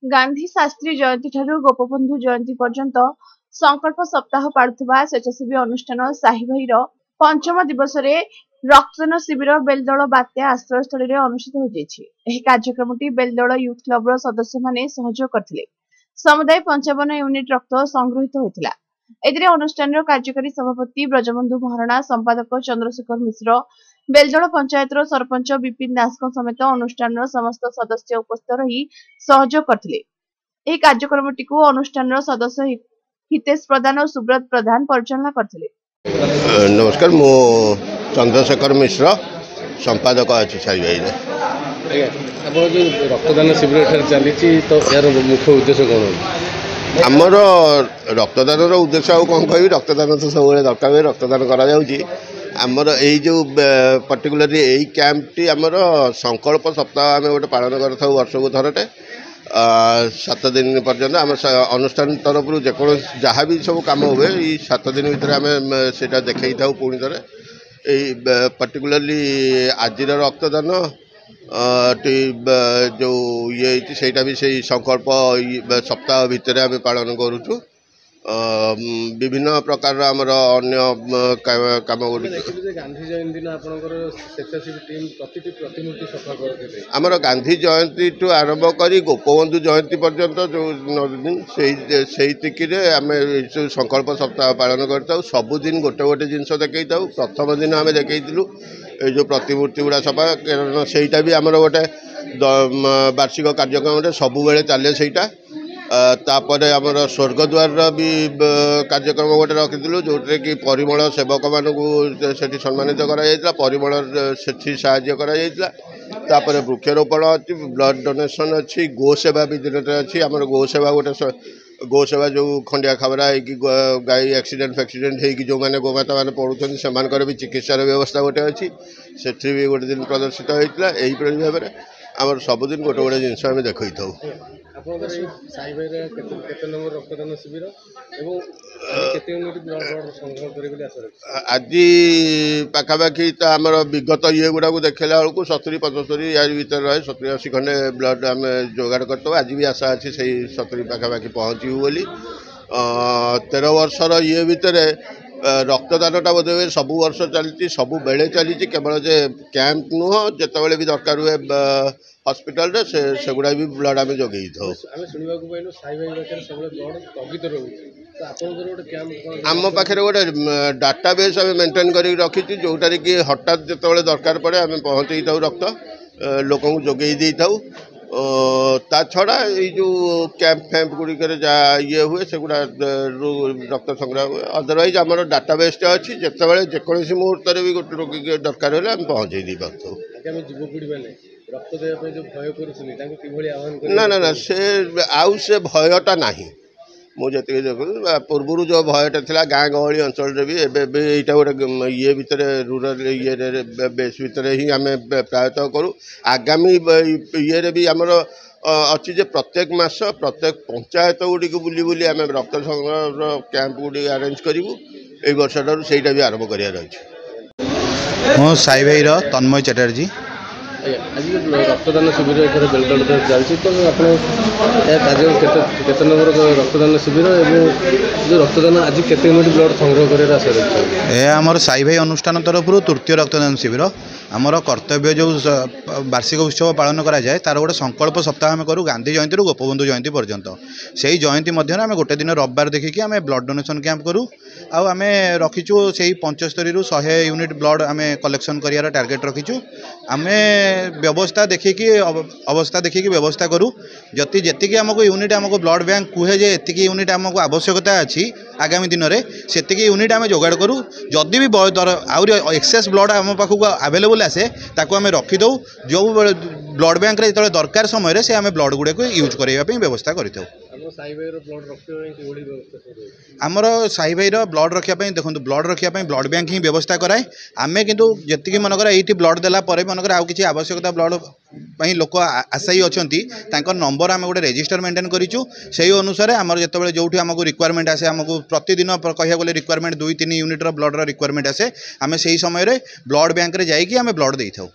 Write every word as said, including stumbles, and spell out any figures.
ଗାନ୍ଧୀ ଶାସ୍ତ୍ରୀ ଜୟନ୍ତୀ ଠାରୁ ଗୋପବନ୍ଧୁ ଜୟନ୍ତୀ ପର୍ଯ୍ୟନ୍ତ ସଂକଳ୍ପ ସପ୍ତାହ ପାଳୁଥିବା ସ୍ୱେଚ୍ଛାସେବୀ ଅନୁଷ୍ଠାନ ସାହିଭାଇର ପଞ୍ଚମ ଦିବସରେ ରକ୍ତଦାନ ଶିବିର ବେଲଦଳ ବାତ୍ୟା ଆଶ୍ରୟସ୍ଥଳୀରେ ଅନୁଷ୍ଠିତ ହୋଇଯାଇଛି। ଏହି କାର୍ଯ୍ୟକ୍ରମଟି ବେଲଦଳ ୟୁଥ୍ କ୍ଲବର ସଦସ୍ୟମାନେ ସହଯୋଗ କରିଥିଲେ। ସମୁଦାୟ ପଞ୍ଚାବନ ୟୁନିଟ୍ ରକ୍ତ ସଂଗୃହୀତ ହୋଇଥିଲା। ଏଥିରେ ଅନୁଷ୍ଠାନର କାର୍ଯ୍ୟକାରୀ ସଭାପତି ବ୍ରଜବନ୍ଧୁ ମହାରଣା, ସମ୍ପାଦକ ଚନ୍ଦ୍ରଶେଖର ମିଶ୍ର, ବେଲଦଳ ପଞ୍ଚାୟତର ସରପଞ୍ଚ ବିପିନ ଦାସଙ୍କ ସମେତ ଅନୁଷ୍ଠାନର ସମସ୍ତ ସଦସ୍ୟ ଉପସ୍ଥିତ ରହି ସହଯୋଗ କରିଥିଲେ। ଏହି କାର୍ଯ୍ୟକ୍ରମଟିକୁ ଅନୁଷ୍ଠାନର ସଦସ୍ୟ ହିତେଶ ପ୍ରଧାନ ଓ ସୁବ୍ରତ ପ୍ରଧାନ ପରିଚାଳନା କରିଥିଲେ। ନମସ୍କାର, ମୁଁ ଚନ୍ଦ୍ରଶେଖର ମିଶ୍ର, ସମ୍ପାଦକ ଅଛି ସାଇଭାଇରେ। ଆଜ୍ଞା, ଆପଣ ଯେଉଁ ରକ୍ତଦାନ ଶିବିର ଏଠାରେ ଚାଲିଛି, ତ ଏହାର ମୁଖ୍ୟ ଉଦ୍ଦେଶ୍ୟ କ'ଣ? ଆମର ରକ୍ତଦାନର ଉଦ୍ଦେଶ୍ୟ ଆଉ କ'ଣ କହିବି? ରକ୍ତଦାନ ତ ସବୁବେଳେ ଦରକାର ହୁଏ, ରକ୍ତଦାନ କରାଯାଉଛି। ଆମର ଏଇ ଯେଉଁ ପର୍ଟିକୁଲାରଲି ଏଇ କ୍ୟାମ୍ପଟି ଆମର ସଂକଳ୍ପ ସପ୍ତାହ ଆମେ ଗୋଟେ ପାଳନ କରିଥାଉ ବର୍ଷକୁ ଥରଟେ, ସାତ ଦିନ ପର୍ଯ୍ୟନ୍ତ। ଆମ ଅନୁଷ୍ଠାନ ତରଫରୁ ଯେକୌଣସି ଯାହା ବି ସବୁ କାମ ହୁଏ, ଏଇ ସାତ ଦିନ ଭିତରେ ଆମେ ସେଇଟା ଦେଖେଇଥାଉ। ପୁଣି ଥରେ ଏଇ ପର୍ଟିକୁଲାରଲି ଆଜିର ରକ୍ତଦାନ ଟି ଯେଉଁ ଇଏ ହେଇଛି, ସେଇଟା ବି ସେଇ ସଂକଳ୍ପ ସପ୍ତାହ ଭିତରେ ଆମେ ପାଳନ କରୁଛୁ। ବିଭିନ୍ନ ପ୍ରକାରର ଆମର ଅନ୍ୟ କାମ ଗୁଡ଼ିକ ଗାନ୍ଧୀ ଜୟନ୍ତୀ ଦିନ ଆପଣଙ୍କର ସ୍ୱେଚ୍ଛାସେବୀ ଟିମ୍ ପ୍ରତିଟି ପ୍ରତିମୂର୍ତ୍ତି ସଫା କରିଥିଲେ। ଆମର ଗାନ୍ଧୀ ଜୟନ୍ତୀଠୁ ଆରମ୍ଭ କରି ଗୋପବନ୍ଧୁ ଜୟନ୍ତୀ ପର୍ଯ୍ୟନ୍ତ ଯେଉଁ ଦିନ, ସେଇ ସେଇତିକିରେ ଆମେ ସବୁ ସଂକଳ୍ପ ସପ୍ତାହ ପାଳନ କରିଥାଉ। ସବୁଦିନ ଗୋଟେ ଗୋଟେ ଜିନିଷ ଦେଖେଇଥାଉ। ପ୍ରଥମ ଦିନ ଆମେ ଦେଖେଇଥିଲୁ ଏଇ ଯେଉଁ ପ୍ରତିମୂର୍ତ୍ତି ଗୁଡ଼ା ସଫା, କାରଣ ସେଇଟା ବି ଆମର ଗୋଟେ ବାର୍ଷିକ କାର୍ଯ୍ୟକ୍ରମରେ ସବୁବେଳେ ଚାଲେ ସେଇଟା। ତାପରେ ଆମର ସ୍ୱର୍ଗଦ୍ୱାରର ବି କାର୍ଯ୍ୟକ୍ରମ ଗୋଟେ ରଖିଥିଲୁ, ଯେଉଁଥିରେ କି ପରିମଳ ସେବକମାନଙ୍କୁ ସେଠି ସମ୍ମାନିତ କରାଯାଇଥିଲା, ପରିମଳ ସେଠି ସାହାଯ୍ୟ କରାଯାଇଥିଲା। ତାପରେ ବୃକ୍ଷରୋପଣ ଅଛି, ବ୍ଲଡ଼ ଡୋନେସନ୍ ଅଛି, ଗୋ ସେବା ବି ଦିନଟେ ଅଛି। ଆମର ଗୋ ସେବା ଗୋଟେ, ଗୋ ସେବା ଯେଉଁ ଖଣ୍ଡିଆ ଖାବରା ହେଇକି, ଗାଈ ଆକ୍ସିଡେଣ୍ଟ ଫାକ୍ସିଡେଣ୍ଟ ହେଇକି ଯେଉଁମାନେ ଗୋମାତାମାନେ ପଡ଼ୁଛନ୍ତି, ସେମାନଙ୍କର ବି ଚିକିତ୍ସାର ବ୍ୟବସ୍ଥା ଗୋଟେ ଅଛି, ସେଠି ବି ଗୋଟେ ଦିନ ପ୍ରଦର୍ଶିତ ହେଇଥିଲା। ଏହିପରି ଭାବରେ ଆମର ସବୁଦିନ ଗୋଟେ ଗୋଟେ ଜିନିଷ ଆମେ ଦେଖେଇଥାଉ। ଆପଣଙ୍କର ଏଇ ସାଇ ଭାଇର କେତେ କେତେ ନମ୍ବର ରକ୍ତଦାନ ଶିବିର ଏବଂ କେତେ ୟୁନିଟ୍ ବ୍ଲଡ଼ ସଂଗ୍ରହ କରିବେ ବୋଲି ଆଶା ରଖିଛି? ଆଜି ପାଖାପାଖି ତ ଆମର ବିଗତ ଇଏ ଗୁଡ଼ାକୁ ଦେଖିଲା ବେଳକୁ ସତୁରି ପଞ୍ଚସ୍ତରୀ ୟାରି ଭିତରେ ରହେ, ସତୁରି ଅଶୀ ଖଣ୍ଡେ ବ୍ଲଡ଼ ଆମେ ଯୋଗାଡ଼ କରିଥାଉ। ଆଜି ବି ଆଶା ଅଛି ସେଇ ସତୁରି ପାଖାପାଖି ପହଞ୍ଚିବୁ ବୋଲି। ତେର ବର୍ଷର ଇଏ ଭିତରେ ରକ୍ତଦାନଟା ବୋଧେ ହୁଏ ସବୁ ବର୍ଷ ଚାଲିଛି, ସବୁବେଳେ ଚାଲିଛି। କେବଳ ଯେ କ୍ୟାମ୍ପ ନୁହଁ, ଯେତେବେଳେ ବି ଦରକାର ହୁଏ ହସ୍ପିଟାଲରେ, ସେ ସେଗୁଡ଼ା ବି ବ୍ଲଡ଼ ଆମେ ଯୋଗେଇଥାଉ। ଆମେ ଶୁଣିବାକୁ ପାଇଲୁ ସାଇ ଭାଇ ପାଖରେ ସବୁବେଳେ ବ୍ଲଡ଼ ସ୍ଥଗିତ ରହୁଛି, ତ ଆପଣଙ୍କର ଗୋଟେ କ୍ୟାମ୍ପ? ଆମ ପାଖରେ ଗୋଟେ ଡାଟାବେସ୍ ଆମେ ମେଣ୍ଟେନ୍ କରିକି ରଖିଛୁ, ଯେଉଁଟାରେ କି ହଠାତ୍ ଯେତେବେଳେ ଦରକାର ପଡ଼େ ଆମେ ପହଞ୍ଚେଇଥାଉ, ରକ୍ତ ଲୋକଙ୍କୁ ଯୋଗେଇ ଦେଇଥାଉ। ତା ଛଡ଼ା ଏଇ ଯେଉଁ କ୍ୟାମ୍ପ ଫ୍ୟାମ୍ପ ଗୁଡ଼ିକରେ ଯାହା ଇଏ ହୁଏ, ସେଗୁଡ଼ା ରକ୍ତ ସଂଗ୍ରହ ହୁଏ। ଅଦରୱାଇଜ୍ ଆମର ଡାଟାବେସ୍ଟା ଅଛି, ଯେତେବେଳେ ଯେକୌଣସି ମୁହୂର୍ତ୍ତରେ ବି ଗୋଟେ ରୋଗୀକି ଦରକାର ହେଲେ ଆମେ ପହଞ୍ଚେଇ ଦେଇପାରୁଥାଉ। ଆଗାମୀ ଯୁବପିଢ଼ିମାନେ ରକ୍ତ ଦେବା ପାଇଁ ଯେଉଁ ଭୟ କରୁଛନ୍ତି, ତାଙ୍କୁ କିଭଳି ଆହ୍ୱାନ? ନା ନା ନା, ସେ ଆଉ ସେ ଭୟଟା ନାହିଁ। ମୁଁ ଯେତିକି ଦେଖୁଛି, ପୂର୍ବରୁ ଯେଉଁ ଭୟଟା ଥିଲା ଗାଁ ଗହଳି ଅଞ୍ଚଳରେ ବି, ଏବେ ବି ଏଇଟା ଗୋଟେ ଇଏ ଭିତରେ, ରୁରାଲ ଇଏରେ ବେସ୍ ଭିତରେ ହିଁ ଆମେ ପ୍ରାୟତଃ କରୁ। ଆଗାମୀ ଇଏରେ ବି ଆମର ଅଛି ଯେ ପ୍ରତ୍ୟେକ ମାସ ପ୍ରତ୍ୟେକ ପଞ୍ଚାୟତ ଗୁଡ଼ିକୁ ବୁଲି ବୁଲି ଆମେ ରକ୍ତ ସଂଗ୍ରହର କ୍ୟାମ୍ପ ଗୁଡ଼ିକ ଆରେଞ୍ଜ କରିବୁ। ଏଇ ବର୍ଷଠାରୁ ସେଇଟା ବି ଆରମ୍ଭ କରିବାର ଅଛି। ମୁଁ ସାଇ ଭାଇର ତନ୍ମୟ ଚାଟାର୍ଜୀ। ଆଜ୍ଞା, ଆଜି ଯେଉଁ ରକ୍ତଦାନ ଶିବିର ଏଠାରେ ବେଲଦଳରେ ଚାଲିଛି, ତ ଆପଣ ଏହା କାର୍ଯ୍ୟ କେତେ କେତେ ନମ୍ବର ରକ୍ତଦାନ ଶିବିର ଏବଂ ଯେଉଁ ରକ୍ତଦାନ ଆଜି କେତେ ୟୁନିଟ୍ ବ୍ଲଡ଼ ସଂଗ୍ରହ କରିବାର ଆଶା ରଖିଛନ୍ତି? ଏହା ଆମର ସାଇ ଭାଇ ଅନୁଷ୍ଠାନ ତରଫରୁ ତୃତୀୟ ରକ୍ତଦାନ ଶିବିର। ଆମର କର୍ତ୍ତବ୍ୟ ଯେଉଁ ବାର୍ଷିକ ଉତ୍ସବ ପାଳନ କରାଯାଏ, ତା'ର ଗୋଟେ ସଂକଳ୍ପ ସପ୍ତାହ ଆମେ କରୁ ଗାନ୍ଧୀ ଜୟନ୍ତୀରୁ ଗୋପବନ୍ଧୁ ଜୟନ୍ତୀ ପର୍ଯ୍ୟନ୍ତ। ସେଇ ଜୟନ୍ତୀ ମଧ୍ୟରେ ଆମେ ଗୋଟେ ଦିନ ରବିବାର ଦେଖିକି ଆମେ ବ୍ଲଡ଼ ଡୋନେସନ୍ କ୍ୟାମ୍ପ କରୁ। ଆଉ ଆମେ ରଖିଛୁ ସେଇ ପଞ୍ଚସ୍ତରୀରୁ ଶହେ ୟୁନିଟ୍ ବ୍ଲଡ଼ ଆମେ କଲେକ୍ସନ୍ କରିବାର ଟାର୍ଗେଟ୍ ରଖିଛୁ। ଆମେ ବ୍ୟବସ୍ଥା ଦେଖିକି, ଅବସ୍ଥା ଦେଖିକି ବ୍ୟବସ୍ଥା କରୁ। ଯଦି ଯେତିକି ଆମକୁ ୟୁନିଟ୍ ଆମକୁ ବ୍ଲଡ଼ ବ୍ୟାଙ୍କ କୁହେ ଯେ ଏତିକି ୟୁନିଟ୍ ଆମକୁ ଆବଶ୍ୟକତା ଅଛି ଆଗାମୀ ଦିନରେ, ସେତିକି ୟୁନିଟ୍ ଆମେ ଯୋଗାଡ଼ କରୁ। ଯଦି ବି ଆହୁରି ଏକ୍ସେସ୍ ବ୍ଲଡ଼ ଆମ ପାଖକୁ ଆଭେଲେବୁଲ୍ ଆସେ, ତାକୁ ଆମେ ରଖିଦେଉ। ଯେଉଁ ବ୍ଲଡ଼ ବ୍ୟାଙ୍କରେ ଯେତେବେଳେ ଦରକାର ସମୟରେ ସେ ଆମେ ବ୍ଲଡ଼ ଗୁଡ଼ିକୁ ୟୁଜ୍ କରାଇବା ପାଇଁ ବ୍ୟବସ୍ଥା କରିଥାଉ। ଆମର ସାଇ ଭାଇର ବ୍ଲଡ଼ ରଖିବା ପାଇଁ, ଦେଖନ୍ତୁ, ବ୍ଲଡ଼ ରଖିବା ପାଇଁ ବ୍ଲଡ଼ ବ୍ୟାଙ୍କ ହିଁ ବ୍ୟବସ୍ଥା କରାଏ। ଆମେ କିନ୍ତୁ ଯେତିକି ମନେକର ଏଇଠି ବ୍ଲଡ଼ ଦେଲା ପରେ ମନେକର ଆଉ କିଛି ଆବଶ୍ୟକତା ବ୍ଲଡ଼ ପାଇଁ ଲୋକ ଆଶାୟୀ ଅଛନ୍ତି, ତାଙ୍କ ନମ୍ବର ଆମେ ଗୋଟେ ରେଜିଷ୍ଟର ମେଣ୍ଟେନ୍ କରିଛୁ। ସେଇ ଅନୁସାରେ ଆମର ଯେତେବେଳେ ଯେଉଁଠି ଆମକୁ ରିକ୍ୱାରମେଣ୍ଟ ଆସେ, ଆମକୁ ପ୍ରତିଦିନ କହିବାକୁ ଗଲେ ରିକ୍ୱାରମେଣ୍ଟ ଦୁଇ ତିନି ୟୁନିଟ୍ର ବ୍ଲଡ଼ର ରିକ୍ୱାରମେଣ୍ଟ ଆସେ, ଆମେ ସେଇ ସମୟରେ ବ୍ଲଡ଼ ବ୍ୟାଙ୍କରେ ଯାଇକି ଆମେ ବ୍ଲଡ଼ ଦେଇଥାଉ।